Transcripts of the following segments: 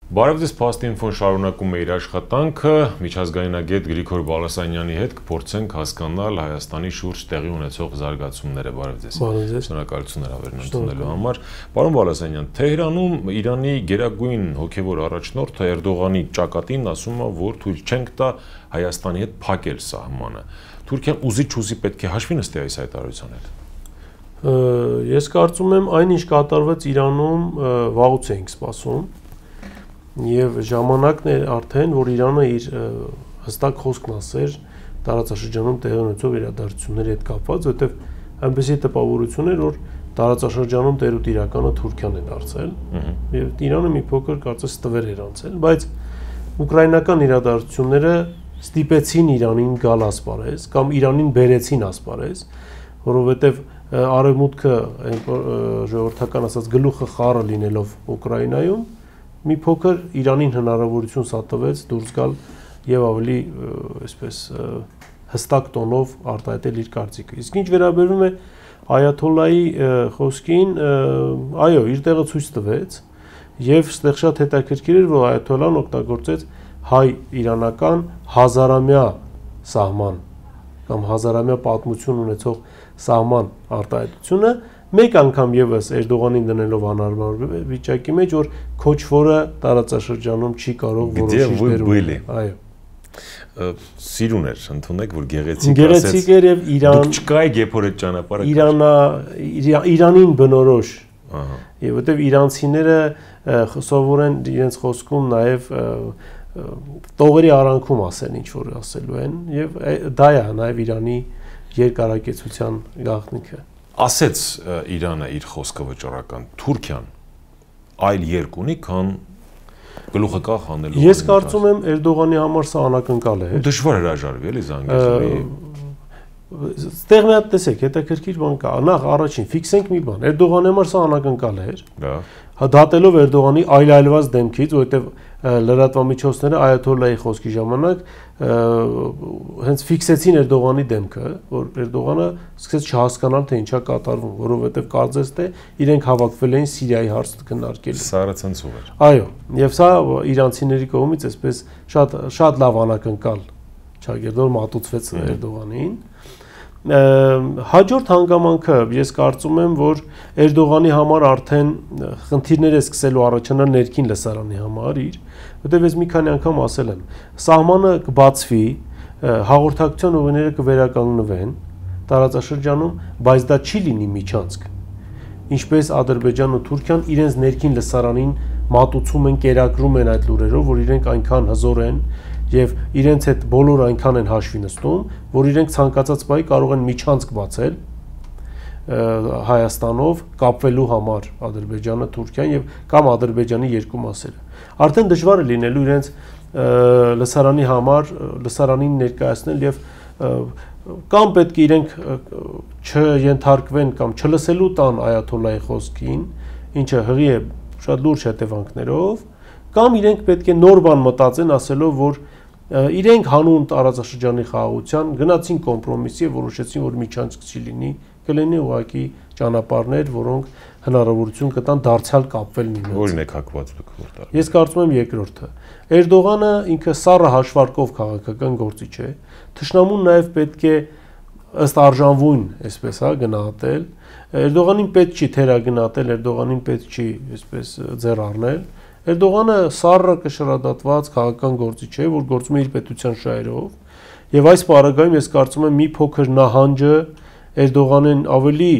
Բարև ձեզ, Փաստինֆոն շարունակում է իր աշխատանքը, միջազգայնագետ Գրիգոր Բալասանյանի հետ կփորձենք հասկանալ Հայաստանի շուրջ տեղի ունեցող զարգացումները։ Բարև ձեզ։ Շնորհակալություն հավերն ընդունելու համար։ Պարոն Բալասանյան, Թեհրանում Իրանի գերագույն հոգևոր առաջնորդը Էրդողանի ճակատին ասում է, որ թույլ չենք տա Հայաստանի հետ փակել սահմանը։ Թուրքիան ուզի-չուզի պետք է հաշվի նստի այս հայտարարության հետ։ Ես կարծում եմ, այնինչ կատարվեց Իրանում, վաղուց էինք սպասում։ Եվ ժամանակն է արդեն, որ Իրանը իր հստակ խոսքն ասեր տարածաշրջանում տեղի ունեցող իրադարձությունների հետ կապված, որտեղ այնպեսի տպավորություն էր, որ տարածաշրջանում տերուտիրականը Թուրքիան է դարձել, եւ Իրանը մի փոքր կարծես տվեր էր անցել, բայց ուկրաինական իրադարձությունները ստիպեցին Իրանին գալ ասպարեզ կամ Իրանին բերեցին ասպարեզ, որովհետեւ արևմուտքը ժողովրդական ասած գլուխը խառը լինելով Ուկրաինայում մի փոքր Իրանին հնարավորություն սատվեց դուրս գալ եւ ավելի այսպես հստակ տոնով արտահայտել իր կարծիքը։ Իսկ ինչ վերաբերում է Այաթոլլայի խոսքին, այո, իր տեղը ցույց տվեց եւ այդտեղ շատ հետաքրքիր էր, որ Այաթոլլան օգտագործեց հայ-իրանական հազարամյա սահման կամ հազարամյա պատմություն ունեցող սահման արտահայտությունը մեկ անգամ եւս Էրդողանին դնելով անհարմար վիճակի մեջ, որ քոչվորը տարածաշրջանում չի կարող որոշիչ բերել։ Այո։ Սիրուն էր, ընդունեք, որ գեղեցիկ գեղեցիկ էր եւ Իրան դուք չկայեք երբ որ այդ ճանապարհը Իրանին բնորոշ։ Եվ որտեւ իրանցիները սովորեն իրենց խոսքում նաեւ տողերի արանքում ասեն ինչ որ ասելու են եւ դա է նաեւ Իրանի երկարակեցության գաղտնիքը։ Ասեց Իրանը իր խոսքը վճռական, Թուրքիան այլ երկ ունի, քան գլուխը կախ անելու։ Ես կարծում եմ Էրդողանի համար սա անակնկալ է։ Դժվար հրաժարվի, էլի Զանգեզուրի։ Ստեղ մի հատ տեսեք, հետաքրքիր բան կա։ Նախ առաջին ֆիքսենք մի բան։ Էրդողանի համար սա անակնկալ էր։ Դա։ Դատելով Էրդողանի այլայլված դեմքից, որովհետև լրատվամիջոցները Այաթոլլայի խոսքի ժամանակ հենց ֆիքսեցին Էրդողանի դեմքը, որ Էրդողանը սկսեց չհասկանալ, թե ինչա կատարվում, որովհետև կարծես թե իրենք հավաքվել էին Սիրիայի հարցը քննարկելու։ Սարացնցուղ էր։ Այո, եւ սա իրանցիների կողմից այսպես շատ լավ անակնկալ չագերդոր մատուցվեց Էրդողանին։ Հաջորդ հանգամանքը ես կարծում եմ, որ Էրդողանի համար արդեն խնդիրներ է սկսելու առաջանալ ներքին լսարանի համար իր, որտեղ ես մի քանի անգամ ասել եմ, սահմանը կբացվի, հաղորդակցության ուղիները կվերականգնվեն տարածաշրջանում, բայց դա չի լինի միջանցք։ Ինչպես Ադրբեջանն ու Թուրքիան իրենց ներքին լսարանին մատուցում են, կերակրում են այդ լուրերով, որ իրենք այնքան հզոր են եւ իրենց հետ բոլորը այնքան են հաշվի նստում, որ իրենք ցանկացած բայի կարող են միջանցք բացել Հայաստանով կապվելու համար Ադրբեջանը, Թուրքիան եւ կամ Ադրբեջանի երկու մասերը։ Արդեն դժվար է լինելու իրենց լսարանի համար լսարանին ներկայացնել եւ կամ պետք է իրենք չենթարկվեն կամ չլսելու տան Այաթոլլայի խոսքին, ինչը հղի է շատ լուրջ հետևանքներով, կամ իրենք պետք է նոր բան մտածեն, ասելով, որ իրենք հանուն տարածաշրջանի խաղաղության գնացին կոմպրոմիսի եւ որոշեցին, որ միջանցք չի լինի, կլինի ուղղակի ճանապարհներ, որոնք հնարավորություն կտան դարձյալ կապվել միմյանց։ Որին եք հակված դուք որտեղ։ Ես կարծում եմ երկրորդը։ Էրդողանը ինքը սառը հաշվարկով քաղաքական գործիչ է։ Թշնամուն նաեւ պետք է ըստ արժանվույն, այսպես հա, գնահատել։ Էրդողանին պետք չի թերագնահատել, Էրդողանին պետք չի, այսպես ձեռ առնել։ Էրդողանը սառը կշռադատված քաղաքական գործիչ է, որ գործում է իր պետության շահերով, եւ այս պարագայում ես կարծում եմ մի փոքր նահանջը Էրդողանին ավելի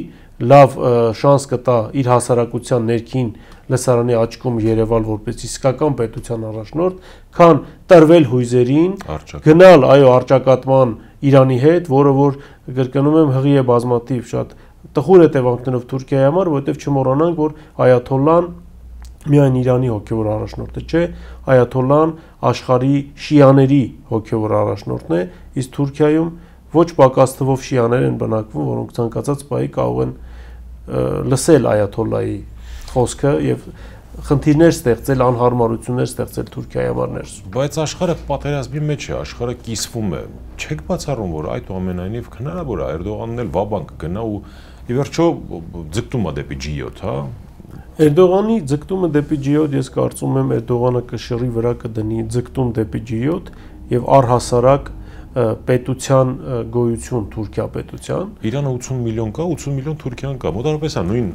լավ շանս կտա իր հասարակության ներքին լսարանի աչքում երևալ որպես իսկական պետության առաջնորդ, քան տրվել հույզերին, գնալ այո արճակատման Իրանի հետ, որը որ կրկնում եմ հղի է բազմաթիվ շատ տխուր հետևանքներով Թուրքիայի համար, որովհետև չմոռանանք, որ Այաթոլլան միայն Իրանի հոգևոր առաջնորդը չէ, Այաթոլլան աշխարհի շիաների հոգևոր առաջնորդն է, իսկ Թուրքիայում ոչ պակաս թվով շիաներ են բնակվում, որոնք ցանկացած բայի կարող են լսել Այաթոլլայի խոսքը եւ խնդիրներ ստեղծել, անհարմարություններ ստեղծել Թուրքիայի համար ներսում։ Բայց աշխարհը պատերազմի մեջ է, աշխարհը կիսվում է։ Չեք բացառում, որ այդուամենայնիվ հնարավոր է Էրդողանն էլ վաբանկ գնա ու ի վերջո ձգտում է դեպի G7, հա։ Էրդողանի ձգտումը դեպի G7 ես կարծում եմ Էրդողանը կշռի վրա կդնի ձգտում դեպի G7 եւ առհասարակ պետության գոյություն Թուրքիա պետության Իրանը 80 միլիոն կա 80 միլիոն Թուրքիան կա մոտավորապես է նույն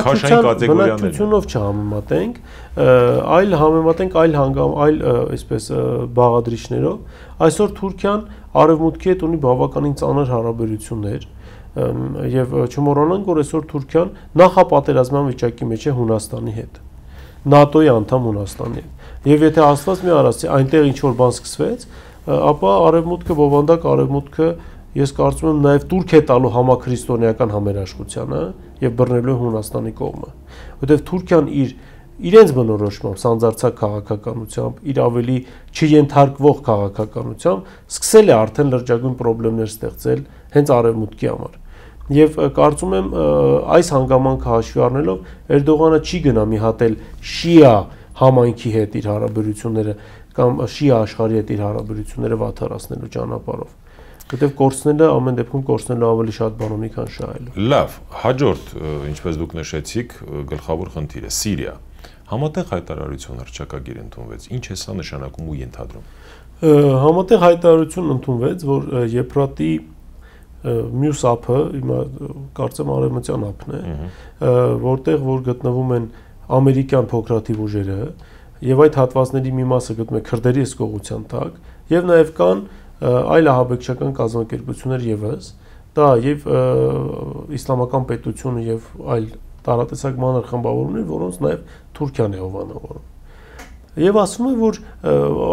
քաշային կատեգորիաներն բնակչությունով չհամեմատենք այլ համեմատենք այլ այսպես բաղադրիչներով այսօր Թուրքիան արևմուտքի հետ ունի բավականին ծանր հարաբերություններ եւ չմոռանանք որ այսօր Թուրքիան նախապատերազմյան վիճակի մեջ է Հունաստանի հետ ՆԱՏՕ-ի անդամ Հունաստանի հետ եւ եթե Աստված մի արածի այնտեղ ինչ որ բան սկսվեց ապա արևմուտքը բովանդակ արևմուտքը ես կարծում եմ նաև Թուրք է տալու համաքրիստոնեական համերաշխությանը եւ բռնելու Հունաստանի կողմը որովհետեւ Թուրքիան իրենց բնորոշմամբ սանձարցակ քաղաքականությամբ իր ավելի չենթարկվող քաղաքականությամբ սկսել է արդեն լրջագույն խնդիրներ ստեղծել հենց արևմուտքի համար եւ կարծում եմ այս հանգամանքը հաշվի առնելով Էրդողանը չի գնա մի հատ էլ շիա համայնքի հետ իր հարաբերությունները կամ շիա աշխարհի հետ իր հարաբերությունները վատթարացնելու ճանապարհով որտեղ կորցնելը ամեն դեպքում կորցնելը ավելի շատ բան ունի քան շահելու լավ հաջորդ ինչպես դուք նշեցիք գլխավոր խնդիրը Սիրիա համատեղ հայտարարություն հռչակագիր ընդունվեց ինչ է սա նշանակում ու ենթադրում համատեղ հայտարարություն ընդունվեց որ Եփրատի մյուս ափը հիմա կարծեմ արևմտյան ափն է որտեղ որ գտնվում են ամերիկյան փոքրաթիվ ուժերը եւ այդ հատվածների մի մասը գտնվում է քրդերի հսկողության տակ եւ նաեւ կան այլ ահաբեկչական կազմակերպություններ եւս դա եւ իսլամական պետությունը եւ այլ տարատեսակ մանր խմբավորումներ որոնց նաեւ Թուրքիան է հովանավորում եւ ասում է որ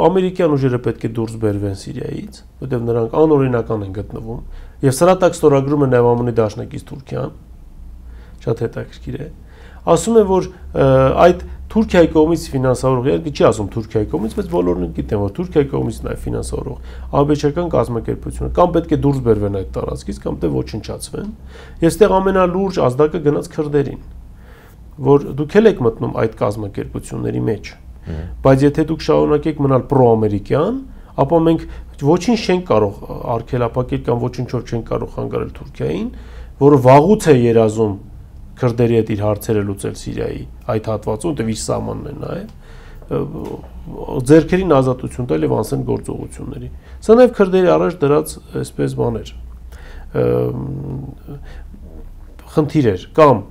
ամերիկյան ուժերը պետք է դուրս բերվեն Սիրիայից որտեղ նրանք անօրինական են գտնվում եւ սրա տակ ստորագրում է նաեւ ԱՄՆ-ի դաշնակից Թուրքիան շատ հետաքրքիր է ասում է որ այդ Թուրքիայի կողմից ֆինանսավորող չի ասում Թուրքիայի կողմից բայց բոլորն գիտեն որ Թուրքիայի կողմից նաեւ ֆինանսավորող ահաբեկչական կազմակերպությունը կամ պետք է դուրս բերվեն այդ տարածքից կամ դե ոչնչացվեն եւ այստեղ ամենալուրջ ազդակը գնաց քրդերին որ դուք եք մտնում այդ կազմակերպությունների մեջ բայց եթե դուք շարունակեք մնալ պրոամերիկյան ապա մենք ոչինչ չենք կարող արգելափակել կամ ոչինչով չենք կարող խանգարել Թուրքիային որը վաղուց է երազում քրդերի հետ իր հարցերը լուծել Սիրիայի այդ հատվածում դե իր սահմանն է նաեւ ձերքերին ազատություն տալ եւ անսեն գործողությունների սա նաեւ քրդերի առաջ դրած այսպես բաներ խնդիրեր կամ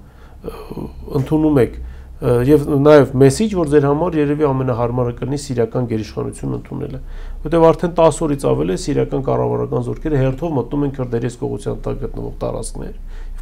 ընդունում եք եւ նաեւ մեսիջ որ ձեր համար երևի ամենահարմարը կլինի սիրիական գերիշխանություն ընդունելը որտեղ արդեն 10 օրից ավել է սիրիական կառավարական զորքերը հերթով մտնում են քրդերի հսկողության տակ գտնվող տարածքներ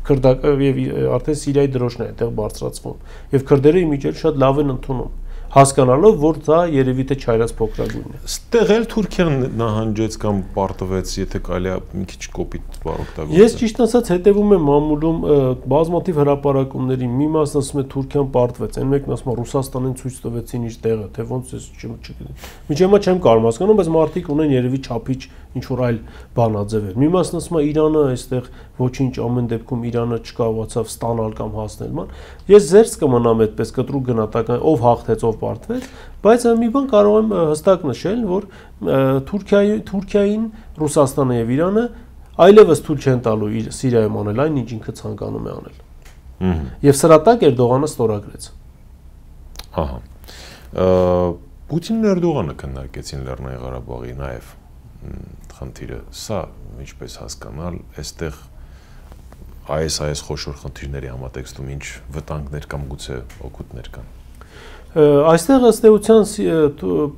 եւ արդեն Սիրիայի դրոշն է այդտեղ բարձրացվում եւ քրդերը իմիջիայել շատ լավ են ընդունում հասկանալով որ դա երևի թե չայրած փոքրագույնն է ստեղ էլ Թուրքիան նահանջեց կամ պարտվեց եթե կարելի է մի քիչ կոպիտ բառ օգտագործել ես ճիշտ ասած հետևում եմ մամուլում բազմաթիվ հրապարակումների մի մասն ասում է Թուրքիան պարտվեց այն մեկն ասում է Ռուսաստանին ցույց տվեցին իր տեղը թե ոնց է չգիտեմ միջեմա չեմ կարող հասկանում բայց մարդիկ ունեն երևի չափիչ ինչ որ այլ բանաձևեր մի մասն ասում է Իրանը այստեղ ոչինչ ամեն դեպքում Իրանը չկարողացավ ստանալ կամ հասնել ման ես զերծ կմնամ այդպես կտրուկ գնահատական ով հաղթեց ով պարտվեց բայց մի բան կարող եմ հստակ նշել որ Թուրքիային Ռուսաստանը եւ Իրանը այլևս թույլ չեն տալու իր Սիրիայում անել այն ինչ ինքը ցանկանում է անել եւ սրա տակ Էրդողանը ստորագրեց Պուտինն ու Էրդողանը քննարկեցին Լեռնային Ղարաբաղի նաեւ խնդիրը սա ինչպես հասկանալ այստեղ այս խոշոր խնդիրների համատեքստում ինչ վտանգներ կամ գուցե օգուտներ կան այստեղ ըստ էության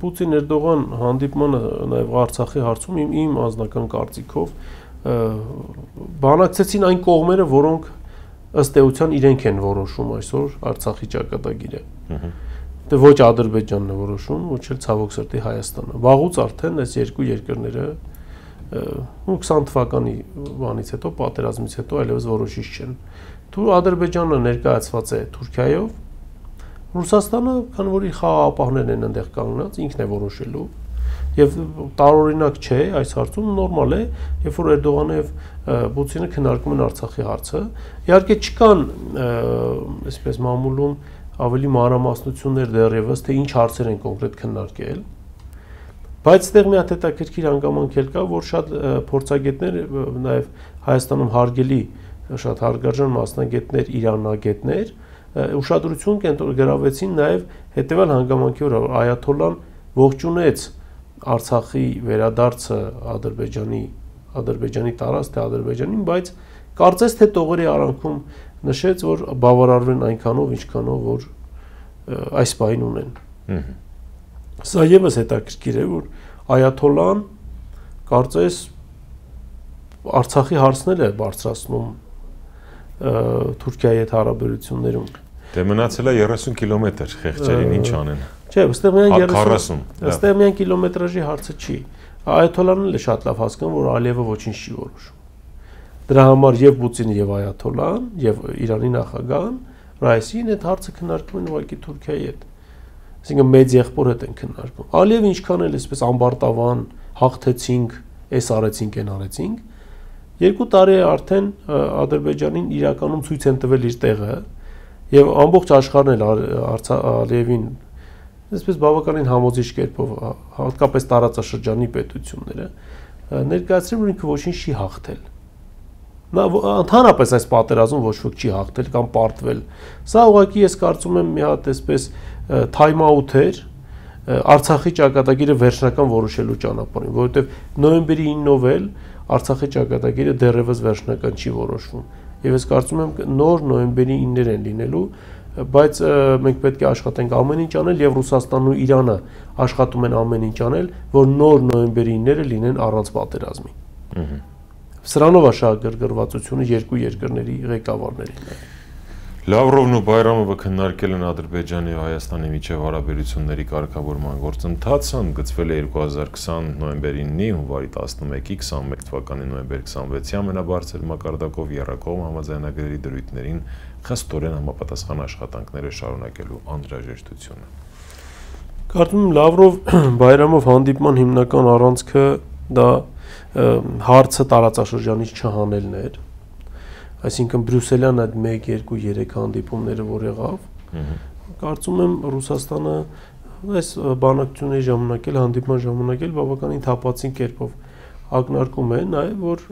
Պուտին-Էրդողան հանդիպմանը նաև Արցախի հարցում իմ անձնական կարծիքով բանակցեցին այն կողմերը, որոնք ըստ էության իրենք են որոշում այսօր Արցախի ճակատագիրը։ Դե ոչ Ադրբեջանն է որոշում, ոչ էլ ցավոք սրտի Հայաստանը։ Վաղուց արդեն այս երկու երկրները 20 թվականի բանից հետո, պատերազմից հետո այլևս որոշիչ չեն։ Ադրբեջանը ներկայացված է Թուրքիայով, Ռուսաստանը, քանի որ իր խաղաղապահներն են այնտեղ կանգնած, ինքն է որոշելու եւ տարօրինակ չէ այս հարցում նորմալ է, երբ որ Էրդողանը եւ Պուտինը քննարկում են Արցախի հարցը։ Իհարկե չկան այսպես մամուլում ավելի մանրամասնություններ դեռևս թե ինչ հարցեր են կոնկրետ քննարկել։ Բայց այդտեղ մի հատ հետաքրքիր հանգամանք էլ կա, որ շատ փորձագետներ նաեւ Հայաստանում հարգելի շատ հարգարժան մասնագետներ, իրանագետներ ուշադրություն գրավեցին նաև հետևյալ հանգամանքի վրա, որ այաթոլլան ողջունեց Արցախի վերադարձը Ադրբեջանի տարածք թե Ադրբեջանին, բայց կարծես թե տողերի արանքում նշեց, որ բավարարվեն այնքանով, ինչքանով որ այս պահին ունեն։ Սա ևս հետաքրքիր է, որ այաթոլլան կարծես Արցախի հարցներ է բարձրացնում Թուրքիայի հետ հարաբերություններում։ Դե մնացել է 30 կիլոմետր, խեղճերին ինչ անեն։ Չէ, այստեղ միայն կիլոմետրաժի հարցը չի։ Այաթոլլան էլ շատ լավ հասկանում, որ Ալիևը ոչինչ չի որոշում։ Դրա համար եւ Պուտինը եւ այաթոլլան եւ Իրանի նախագահան Ռայիսին այդ հարցը քննարկում են ուղղակի Թուրքիայի հետ։ Այսինքն մեծ եղբոր հետ են քննարկում։ Ալիևը ինչքան էլ այսպես ամբարտավան հաղթեցինք, էս արեցինք, այն արեցինք, 2 տարի է արդեն Ադրբեջանին իրականում ցույց են տվել իր տեղը եւ ամբողջ աշխարհն էլ Ալիևին այսպես բավականին համոզիչ կերպով հատկապես տարածաշրջանի պետությունները ներկայացրել, որ ինքը ոչինչ չի հաղթել։ Նա ընդհանրապես այս պատերազմում ոչ ոք չի հաղթել կամ պարտվել։ Սա ուղղակի ես կարծում եմ մի հատ այսպես թայմ աութ էր Արցախի ճակատագիրը վերջնական որոշելու ճանապարհին, որովհետև նոյեմբերի 9-ով էլ Արցախի ճակատագիրը դեռևս վերջնական չի որոշվում։ Եվ ես կարծում եմ նոր նոյեմբերի 9-ներ են լինելու, բայց մենք պետք է աշխատենք ամեն ինչ անել եւ Ռուսաստանն ու Իրանը աշխատում են ամեն ինչ անել, որ նոր նոյեմբերի 9-ները լինեն առանց պատերազմի։ Սրանով է շահագրգռվածությունը երկու երկրների ղեկավարներին։ Լավրովն ու Բայրամովը քննարկել են Ադրբեջանի ու Հայաստանի միջև հարաբերությունների կարգավորման գործընթացը, ընդգծվել է 2020 նոյեմբերի 9-ի, հունվարի 11-ի, 21 թվականի նոյեմբերի 26-ի ամենաբարձր մակարդակով եռակողմ համաձայնագրերի դրույթներին խստորեն համապատասխան աշխատանքները շարունակելու անհրաժեշտությունը։ Կարծում եմ Լավրով-Բայրամով հանդիպման հիմնական առանցքը դա հարցը տարածաշրջանից չհանելն էր, այսինքն Բրյուսելյան այդ 1, 2, 3 հանդիպումները որ եղավ, կարծում եմ Ռուսաստանը այս բանակցությունների ժամանակ էլ հանդիպման ժամանակ էլ բավականին թափածին կերպով ակնարկում է նաև որ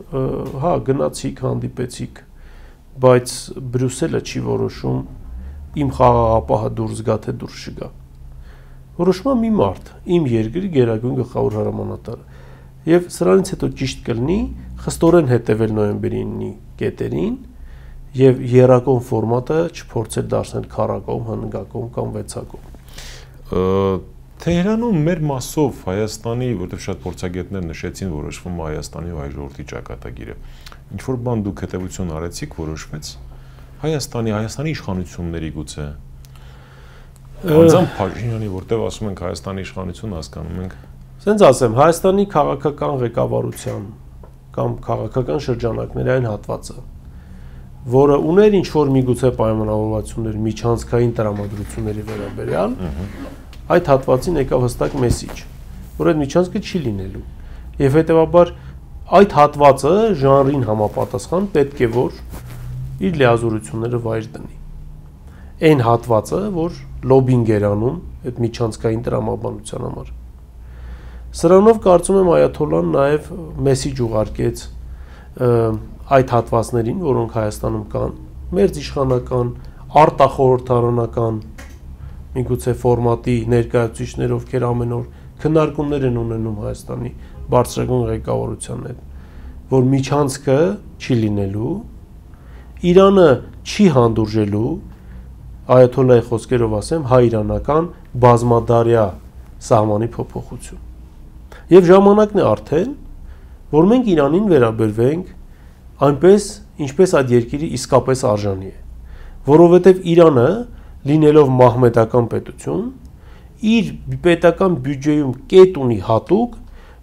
հա գնացիք, հանդիպեցիք, բայց Բրյուսելը չի որոշում իմ խաղաղապահը դուրս գա թե դուրս չգա։ Որոշում է մի մարդ, իմ երկրի գերագույն գլխավոր հրամանատարը։ Եվ սրանից հետո ճիշտ կլինի խստորեն հետևել նոյեմբերի 9-ի կետերին եւ եռակողմ ֆորմատը չփորձել դարձնել քառակողմ, հնգակողմ կամ վեցակողմ։ Թեհրանում մեր մասով Հայաստանի, որտեղ շատ փորձագետներ նշեցին, որոշվում է Հայաստանի ու հայ ժողովրդի ճակատագիրը։ Ինչ որ բան դուք հետևություն արեցիք, որոշվեց Հայաստանի իշխանությունների գուցե։ Անձամբ Փաշինյանի, որտեղ ասում ենք Հայաստանի իշխանություն, հասկանում ենք Սենց ասեմ, Հայաստանի քաղաքական ղեկավարության կամ քաղաքական շրջանակների այն հատվածը, որը ուներ ինչ-որ միգուցե պայմանավորվածություններ միջանցքային տրամադրությունների վերաբերյալ, այդ հատվածին եկավ հստակ մեսիջ, որ այդ միջանցքը չի լինելու։ Եվ հետևաբար այդ հատվածը ժանրին համապատասխան պետք է որ իր լիազորությունները վայր դնի։ Այն հատվածը, որ լոբինգ էր անում այդ միջանցքային տրամաբանության համար։ Սրանով կարծում եմ այաթոլլան նաև մեսիջ ուղարկեց այդ հատվածներին, որոնք Հայաստանում կան, մերձիշխանական, արտախորհրդարանական, միգուցե ֆորմատի ներկայացուցիչներ, ովքեր ամեն օր քննարկումներ են ունենում Հայաստանի բարձրագույն ղեկավարության հետ, որ միջանցքը չի լինելու, Իրանը չի հանդուրժելու, այաթոլլայի խոսքերով ասեմ, հայ-իրանական բազմադարյա սահմանի փոփոխություն։ Եվ ժամանակն է արդեն, որ մենք Իրանին վերաբերվենք այնպես, ինչպես այդ երկիրը իսկապես արժանի է, որովհետև Իրանը, լինելով մահմեդական պետություն, իր պետական բյուջեում կետ ունի հատուկ,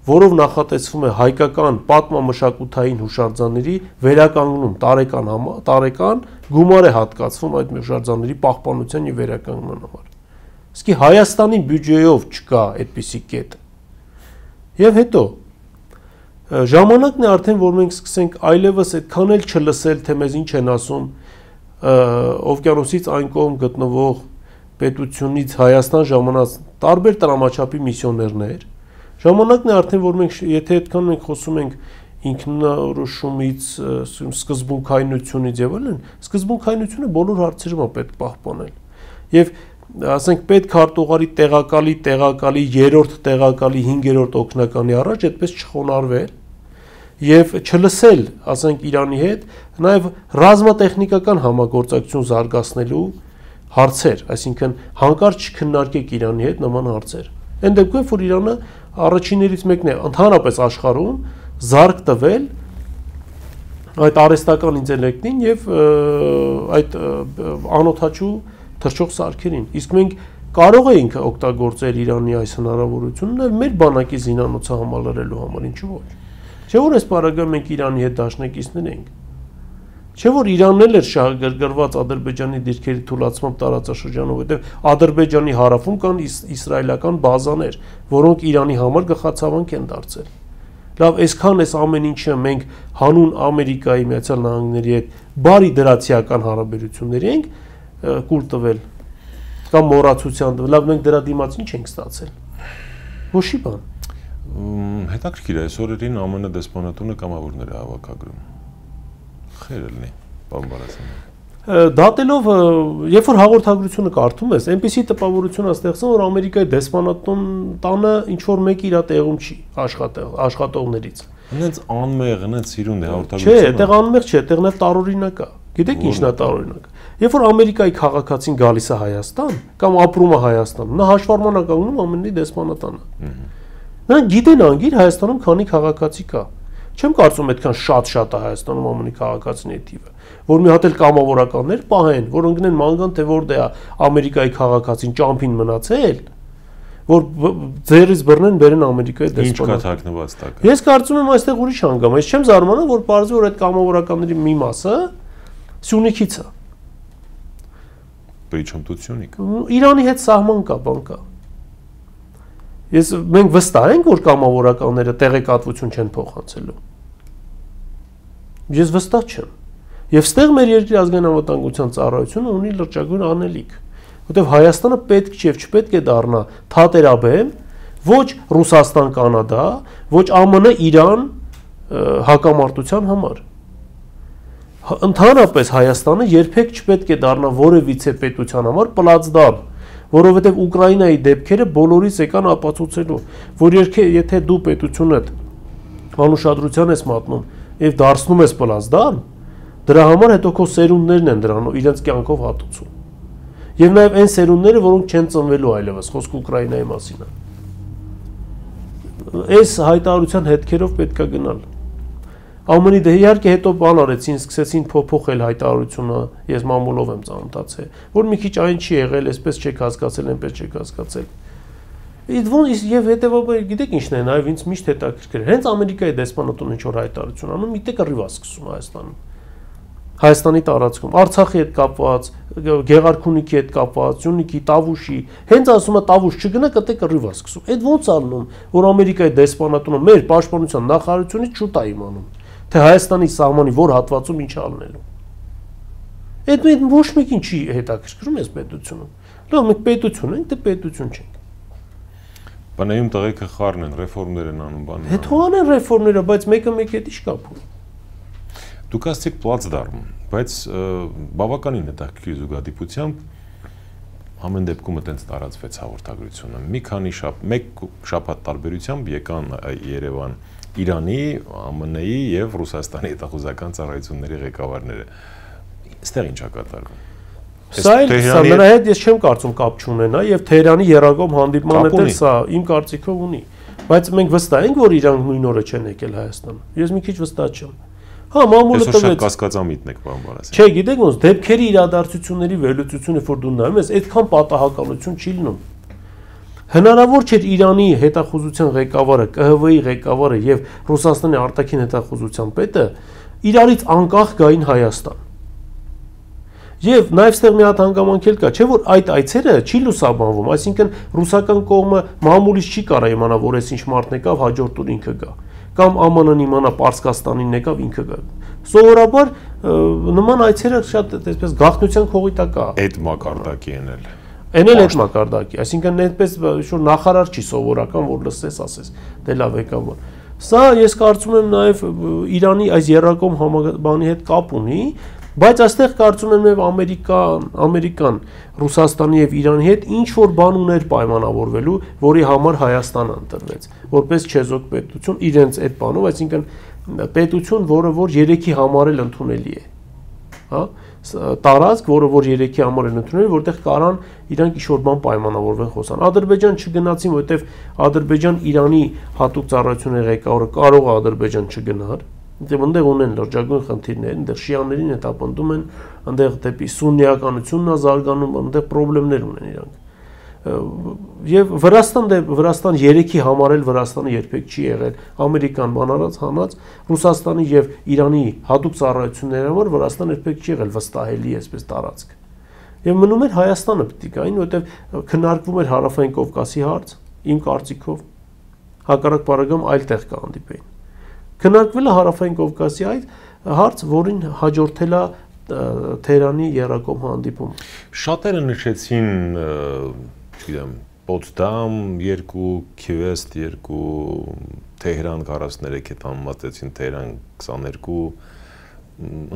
որով նախատեսվում է հայկական պատմամշակութային հուշարձանների վերականգնում տարեկան գումար է հատկացվում այդ հուշարձանների պահպանության եւ վերականգնման համար։ Իսկ Հայաստանի բյուջեով չկա այդպիսի կետ։ Եվ հետո ժամանակն է արդեն, որ մենք սկսենք այլևս այդքան էլ չլսել, թե մեզ ինչ են ասում օվկիանոսից այն կողմ գտնվող պետությունից Հայաստան ժամանած տարբեր տրամաչափի միսիոներներ։ Ժամանակն է արդեն, որ մենք եթե այդքան մենք խոսում ենք ինքնորոշումից, սկզբունքայնությունից եւ այլն, սկզբունքայնությունը բոլոր հարցերում է պետք պահպանել։ Եվ ասենք պետք հարտուղարի տեղակալի, 3-րդ տեղակալի, 5-րդ օգնականի առաջ այդպես չխոնարհվել եւ չլսել, ասենք Իրանի հետ, նաեւ ռազմատեխնիկական համագործակցություն զարգացնելու հարցեր, այսինքն հանկարծ չքննարկեք Իրանի հետ նման հարցեր։ Այն դեպքում, որ Իրանը առաջիններից մեկն է ընդհանրապես աշխարհում զարգ տվել այդ արհեստական ինտելեկտին եւ այդ անօթաչու թռչող սարքերին։ Իսկ մենք կարող էինք օգտագործել Իրանի այս հնարավորությունն մեր բանակի զինանոցը համալրելու համար, ինչու ոչ։ Չէ՞ որ այս պարագայում մենք Իրանի հետ դաշնակիցներ ենք։ Չէ՞ որ Իրանն էլ էր շահագրգռված Ադրբեջանի դիրքերի թուլացմամբ տարածաշրջանում, որտեղ Ադրբեջանի հարավում կան իսրայելական բազաներ, որոնք Իրանի համար գլխացավանք են դարձել։ Լավ, այսքան էս ամեն ինչը մենք հանուն Ամերիկայի Միացյալ Նահանգների հետ բարի դրացիական հարաբերությունների ենք կուր տվել կամ մոռացության տվել, լավ մենք դրա դիմաց ինչ ենք ստացել։ Ոչի բան։ Հետաքրքիր է, այս օրերին ԱՄՆ դեսպանատունը կամավորներ է հավաքագրում։ Խեր լինի, պարոն Բարասյան։ Դատելով, երբ որ հաղորդագրությունը կարդում ես, այնպիսի տպավորություն է ստեղծում, որ Ամերիկայի դեսպանատուն տանը ինչ որ մեկը իր տեղում չի աշխատողներից։ Հենց անմեղ, հենց սիրուն է հաղորդագրությունը։ Չէ, այդտեղ անմեղ չէ, այդտեղ նաև տարօրինակ է։ Գիտեք ինչն է տարօրինակ։ Երբ որ Ամերիկայի քաղաքացին գալիս է Հայաստան կամ ապրում է Հայաստանում, նա հաշվառման է կանգնում ԱՄՆ-ի դեսպանատանը։ Նրանք գիտեն անգիր Հայաստանում քանի քաղաքացի կա։ Չեմ կարծում այդքան շատ է Հայաստանում ԱՄՆ-ի քաղաքացիների թիվը, որ մի հատ էլ կամավորականներ պահեն, որոնք գնեն մանգան թե որտեղ է Ամերիկայի քաղաքացին ճամփին մնացել, որ ձեռից բռնեն բերեն Ամերիկայի դեսպանատ։ Ինչ կա թաքնված տակ։ Ես կարծում եմ այստեղ ուրիշ հանգամ, ես չեմ զարմանում, որ պարզվի որ այդ կամավորականների մի մասը Սյունիքից է։ Причем тут Սյունիք։ Իրանի հետ սահման կա, բան կա։ Մենք վստահ ենք, որ կամավորականները տեղեկատվություն չեն փոխանցելու։ Ես վստահ չեմ։ Եվ ստեղ մեր երկրի ազգային անվտանգության ծառայությունը ունի լրջագույն անելիք, որտեղ Հայաստանը պետք չէ եւ չպետք է դառնա թատերաբեմ ոչ Ռուսաստան-Կանադա, ոչ ԱՄՆ-Իրան հակամարտության համար։ Ընդհանրապես Հայաստանը երբեք չպետք է դառնա որևիցե պետության համար պլացդարմ, որովհետև Ուկրաինայի դեպքերը բոլորից եկան ապացուցելու, որ եթե դու պետությունդ անուշադրության ես մատնում եւ դարձնում ես պլացդարմ, դրա համար հետո քո սերունդներն են դրան իրենց կյանքով հատուցում։ Եվ նաեւ այն սերունդները, որոնք չեն ծնվելու այլևս, խոսքը Ուկրաինայի մասին է։ Այս հայտարարության հետքերով պետք է գնալ։ ԱՄՆ-ի դե իհարկե հետո բան արեցին, սկսեցին փոփոխել հայտարարությունը, ես մամուլով եմ ծանոթացել, որ մի քիչ այն չի եղել, այսպես չեք հասկացել, այնպես չեք հասկացել։ Եվ հետեւաբար գիտեք ինչն է, նաեւ ինձ միշտ հետաքրքիր է։ Հենց Ամերիկայի դեսպանատունը ինչ որ հայտարարություն անում, մի տեղ կռիվ է սկսում Հայաստանում։ Հայաստանի տարածքում, Արցախի հետ կապված, Գեղարքունիքի հետ կապված, Սյունիքի, Տավուշի, հենց ասում է Տավուշ չգնա, կտե կռիվ է սկսում։ Այդ ո՞նց անում, որ Ամերիկայի դեսպանատունը մեր պաշտպանության նախարարությունից շուտ է իմանում, թե Հայաստանի սահմանի որ հատվածում ինչ անելու։ Այդ ոչ մեկին չի հետաքրքրում այս պետությունը։ Լավ, մենք պետություն ենք, դե պետություն չենք։ Բանայում տղեկը խառն են, ռեֆորմներ են անում, բան։ Հետո անեն ռեֆորմները, բայց մեկը հետ ի՞նչ կապ ունի։ Դուք ասացիք պլացդարմ, բայց բավականին հետաքրքիր զուգադիպությամբ ամեն դեպքում այտենց տարածվեց հաղորդագրությունը։ Մի քանի մեկ շաբաթ տարբերությամբ եկան Երևան Իրանի, ԱՄՆ-ի եւ Ռուսաստանի հետախուզական ծառայությունների ղեկավարները։ Այստեղ ինչ է կատարվում։ Սա նրա հետ ես չեմ կարծում կապ չունենա եւ Թեհրանի երակոմ հանդիպման հետ էլ սա իմ կարծիքով ունի, բայց մենք վստահ ենք, որ իրանք նույն օրը չեն եկել Հայաստան։ Ես մի քիչ վստահ չեմ։ Հա, մամուլը տվեց։ Շատ կասկածամիտն եք, պարոն Բարասյան։ Չէ, գիտեք ոնց, դեպքերի իրադարձությունների վերլուծությունը, որ դու նայում ես, այդքան պատահականություն չի լինում։ Հնարավոր չէր Իրանի հետախուզության ղեկավարը, ԿՀՎ-ի ղեկավարը եւ Ռուսաստանի արտաքին հետախուզության պետը իրարից անկախ գային Հայաստան։ Եվ նաև ստեղ մի հատ հանգամանք էլ կա, չէ՞ որ այդ այցերը չի լուսաբանվում, այսինքն ռուսական կողմը մամուլից չի կարա իմանա, որ այս ինչ մարդն եկավ, հաջորդ օր ինքը գա, կամ ԱՄՆ-ն իմանա Պարսկաստանին եկավ, ինքը գա։ Սովորաբար նման այցերը շատ այսպես գաղտնիության քողիտակ է։ Այդ մակարդակի են էլ։ Այն էլ այդ մակարդակի, այսինքն այդպես շուտ նախարար չի սովորական, որ լսես, ասես, դե լավ եկավ։ Սա ես կարծում եմ նաև Իրանի այս երրակողմ բանի հետ կապ ունի, բայց այստեղ կարծում եմ նաև Ամերիկան, Ռուսաստանի եւ Իրանի հետ ինչ որ բան ուներ պայմանավորվելու, որի համար Հայաստանը ընտրվեց, որպես չեզոք պետություն իրենց այդ բանով, այսինքն պետություն, որը որ երեքի համար էլ ընդունելի է, հա, տարածք, որը որ երեքի համար են ընդունել, որտեղ կարան իրանք ինչ-որ բան պայմանավորվեն խոսան։ Ադրբեջան չգնացին, որտեղ Ադրբեջան Իրանի հատուկ ծառայությունների ղեկավարը կարող է Ադրբեջան չգնար, այնտեղ ունեն լրջագույն խնդիրներ, այնտեղ շիաներին հետապնդում են, այնտեղ դեպի սուննիականությունն է զարգանում, այնտեղ խնդիրներ ունեն իրանք։ Եվ Վրաստան երեքի համար էլ Վրաստանը երբեք չի եղել ամերիկան բանարած հանած, Ռուսաստանի եւ Իրանի հատուկ ծառայությունների համար Վրաստանը երբեք չի եղել վստահելի այսպես տարածք։ Եվ մնում էր Հայաստանը պետք է գային, որովհետեւ քննարկվում էր Հարավային Կովկասի հարց, իմ կարծիքով, հակառակ բaragam այլ տեղ կհանդիպեին։ Քննարկվել է Հարավային Կովկասի այդ հարց, որին հաջորդել է Թեհրանի երրակողմ հանդիպումը։ Շատերը նշեցին չգիտեմ, Պոտսդամ 2, Քիվեստ 2, Թեհրան 43 հետ համեմատեցին Թեհրան 22,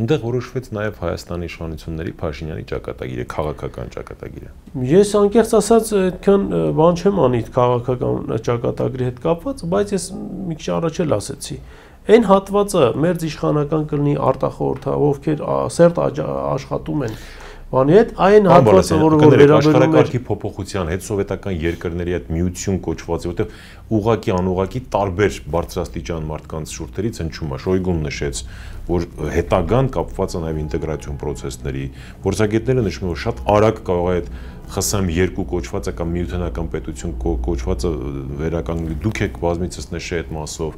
այնտեղ որոշվեց նաև Հայաստանի իշխանությունների Փաշինյանի ճակատագիրը, քաղաքական ճակատագիրը։ Ես անկեղծ ասած այդքան բան չեմ անի քաղաքական ճակատագրի հետ կապված, բայց ես մի քիչ առաջ էլ ասեցի, այն հատվածը մեր իշխանական կլինի արտախորհրդով, ովքեր սերտ աշխատում են բանի հետ, այն հատվածը, որը վերաբերում է աշխարհակարգի փոփոխության, հետսովետական երկրների այդ միություն կոչված, որտեղ ուղղակի անուղղակի տարբեր բարձրաստիճան մարդկանց շուրթերից հնչում է, Շոյգուն նշեց, որ հետագան կապված է նաև ինտեգրացիոն process-ների, փորձագետները նշում են, որ շատ արագ կարող է այդ ԽՍՀՄ2 կոչվածը կամ միութենական պետություն կոչվածը վերականգնի, դուք եք բազմիցս նշել այդ մասով,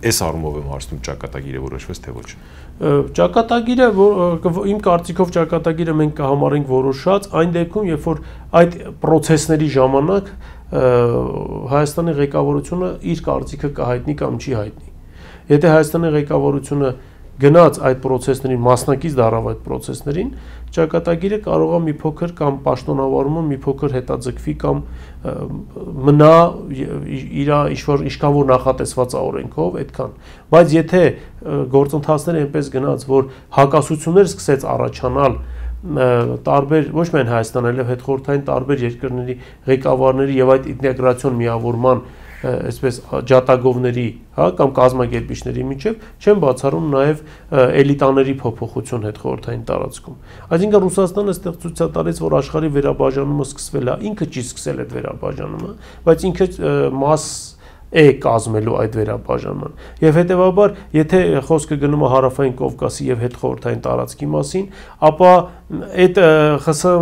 այս առումով եմ հարցնում ճակատագիրը որոշվեց թե ոչ։ Ճակատագիրը, իմ կարծիքով ճակատագիրը մենք կհամարենք որոշած այն դեպքում, երբ որ այդ process-ների ժամանակ Հայաստանի ղեկավարությունը իր կարծիքը կհայտնի կամ չի հայտնի։ Եթե Հայաստանի ղեկավարությունը գնաց այդ process-ներին, մասնակից դառավ այդ process-ներին, ճակատագիրը կարող է մի փոքր կամ պաշտոնավարումը մի փոքր հետաձգվի կամ մնա իր ինչքան որ նախատեսված է օրենքով, այդքան։ Բայց եթե գործընթացները այնպես գնաց, որ հակասություններ սկսեց առաջանալ տարբեր ոչ միայն Հայաստան, այլև հետխորհրդային տարբեր երկրների ղեկավարների եւ այդ ինտեգրացիոն միավորման այսպես ջատագովների, հա, կամ կազմակերպիչների միջև չեն բացառում նաև էլիտաների փոփոխություն հետխորհրդային տարածքում։ Այսինքն Ռուսաստանը այստեղ ցույց է տալիս, որ աշխարհի վերաբաժանումը սկսվել է, ինքը չի սկսել այդ վերաբաժանումը, բայց ինքը մաս է կազմելու այդ վերաբաժանման։ Եվ հետեւաբար, եթե խոսքը գնում է Հարավային Կովկասի եւ հետխորհրդային տարածքի մասին, ապա այդ ԽՍՀՄ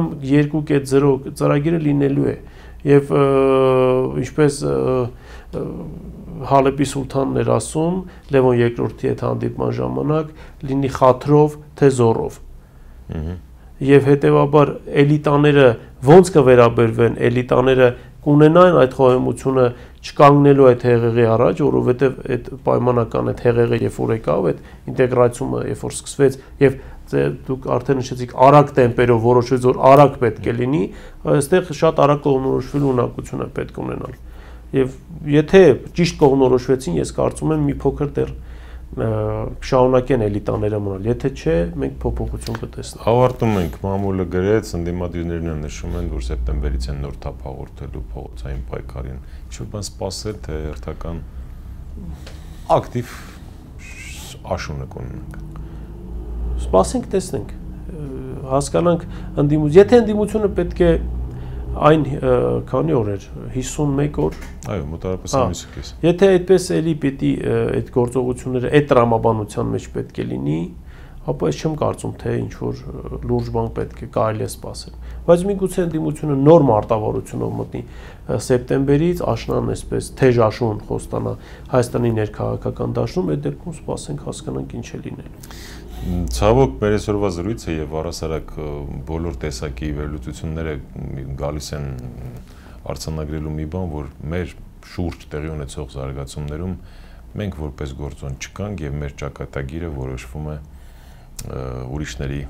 2.0 ծրագիրը լինելու է։ Եվ ինչպես Հալեպի սուլթանն էր ասում Լևոն II-ի հետ հանդիպման ժամանակ, լինի խաթրով, թե զորով։ Եվ հետեւաբար էլիտաները ոնց կվերաբերվեն, էլիտաները կունենան այդ խոհեմությունը չկանգնելու այդ հեղեղի առաջ, որովհետև այդ պայմանական այդ հեղեղը երբ որ եկավ, այդ ինտեգրացումը երբ որ սկսվեց եւ դուք արդեն նշեցիք արագ տեմպերով որոշվեց, որ արագ պետք է լինի, այստեղ շատ արագ կողմնորոշվելու ունակություն է պետք ունենալ։ Եվ եթե ճիշտ կողմնորոշվեցին, ես կարծում եմ մի փոքր դեռ շարունակեն էլիտաները մնալ, եթե չէ, մենք փոփոխություն կտեսնենք։ Ավարտում ենք, մամուլը գրեց, ընդդիմադիրներն նշում են, որ սեպտեմբերից են նոր թափ հաղորդելու փողոցային պայքարին։ Ինչ-որ բան սպասել, թե հերթական ակտիվ աշունը կունենանք։ Սպասենք, տեսնենք, հասկանանք եթե ընդդիմությունը պետք է այն քանի օր էր 51 օր այո մոտավորապես ամիսը կես եթե այդպես էլի պիտի այդ գործողությունները այդ տրամաբանության մեջ պետք է լինի ապա ես չեմ կարծում թե ինչ որ լուրջ բան պետք է կարելի է սպասել բայց միգուցե ընդդիմությունը նոր մարտավարությունով մտնի սեպտեմբերից աշնան այսպես թեժ աշուն խոստանա Հայաստանի ներքաղաքական դաշտում այդ դեպքում սպասենք հասկանանք ինչ է լինելու Ցավոք մեր այսօրվա զրույցը եւ առասարակ բոլոր տեսակի վերլուծությունները գալիս են արձանագրելու մի բան, որ մեր շուրջ տեղի ունեցող զարգացումներում մենք որպես գործոն չկանք եւ մեր ճակատագիրը որոշվում է ուրիշների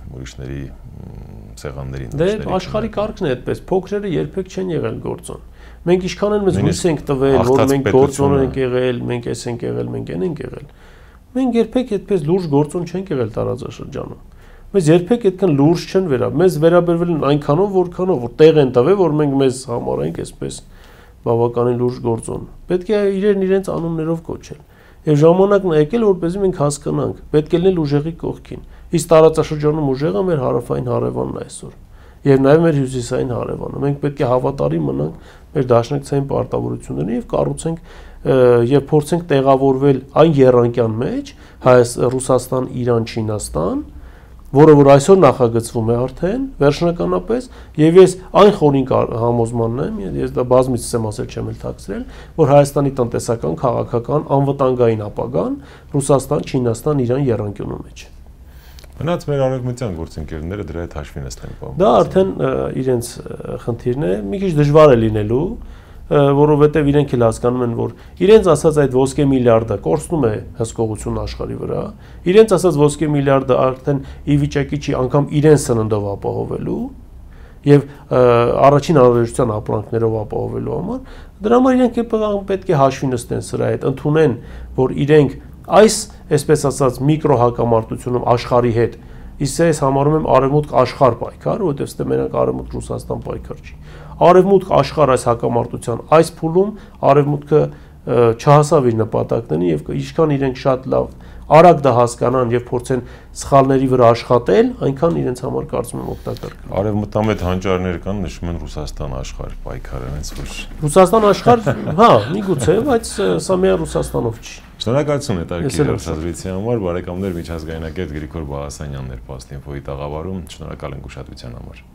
սեղանների Դե աշխարհի կարգն է այդպես, փոքրերը երբեք չեն եղել գործոն։ Մենք ինչքան են մեզ հույս ենք տվել, որ մենք գործոն ենք եղել, մենք էս ենք եղել, մենք այն ենք եղել։ Մենք երբեք այդպես լուրջ գործոն չենք եղել տարածաշրջանում։ Մեզ երբեք այդքան լուրջ չեն մեզ վերաբերվել են այնքանով, որքանով որ տեղ են տվել, որ մենք մեզ համարենք այսպես բավականին լուրջ գործոն։ Պետք է իրենց անուններով կոչել։ Եվ ժամանակն է եկել, որպեսզի մենք հասկանանք, պետք է լինել ուժեղի կողքին։ Իսկ տարածաշրջանում ուժեղը մեր հարավային հարևանն է այսօր։ Եվ նաև մեր հյուսիսային հարևանը։ Մենք պետք է հավատարիմ մնանք մեր դաշնակցային պարտավորություններին եւ կառուցենք եւ փորձենք տեղավորվել այն եռանկյան մեջ Ռուսաստան, Իրան, Չինաստան, որը որ այսօր նախագծվում է արդեն վերջնականապես եւ ես այն խորին համոզմանն եմ, ես դա բազմիցս եմ ասել, չեմ էլ թաքցրել, որ Հայաստանի տնտեսական, քաղաքական, անվտանգային ապագան Ռուսաստան, Չինաստան, Իրան եռանկյունու մեջ։ Մնաց մեր արևմտյան գործընկերները դրա հետ հաշվի նստեն պահում։ Դա արդեն իրենց խնդիրն է, մի քիչ դժվար է լինելու, որովհետև իրենք էլ հասկանում են, որ իրենց ասած այդ ոսկե միլիարդը կորցնում է հսկողություն աշխարհի վրա, իրենց ասած ոսկե միլիարդը արդեն ի վիճակի չի անգամ իրենց սննդով ապահովելու եւ առաջին անհրաժեշտության ապրանքներով ապահովելու համար, դրա համար իրենք պետք է հաշվի նստեն սրա հետ, ընդունեն, որ իրենք այս, այսպես ասած, միկրո հակամարտությունում աշխարհի հետ, իսկ ես համարում եմ արևմուտք աշխարհ պայքար, որովհետև ստե մենակ արևմուտք Ռուսաստան պայքար չի։ Արևմուտք աշխարհ այս հակամարտության այս փուլում արևմուտքը չհասավ իր նպատակներին եւ ինչքան իրենք շատ լավ արագ դա հասկանան եւ փորձեն սխալների վրա աշխատել, այնքան իրենց համար կարծում եմ օգտակար կլինի։ Արևմտամետ հանճարներ կան, նշում են Ռուսաստան աշխարհ պայքարը, հենց որ Ռուսաստան աշխարհ, հա, միգուցե, բայց սա միայն Ռուսաստանով չի։ Շնորհակալություն հետաքրքիր հարցազրույցի համար, բարեկամներ, միջազգայնագետ Գրիգոր Բալասանյանն էր Փաստինֆոյի տաղավարում, շնորհակալ ենք ուշադրության համար։